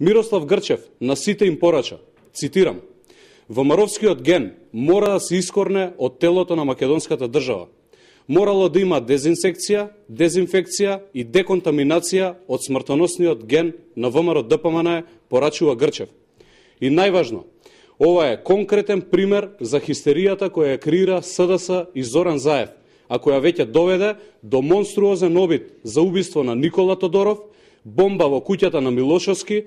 Мирослав Грчев на сите им порача, цитирам: "ВМРО-вскиот ген мора да се искорне од телото на македонската држава. Морало да има дезинсекција, дезинфекција и деконтаминација од смртоносниот ген на ВМРО-ДПМН", порачува Грчев. И најважно, ова е конкретен пример за хистеријата која ја креира СДС и Зоран Заев, а која веќе доведе до монструозен обид за убиство на Никола Тодоров, бомба во куќата на Милошовски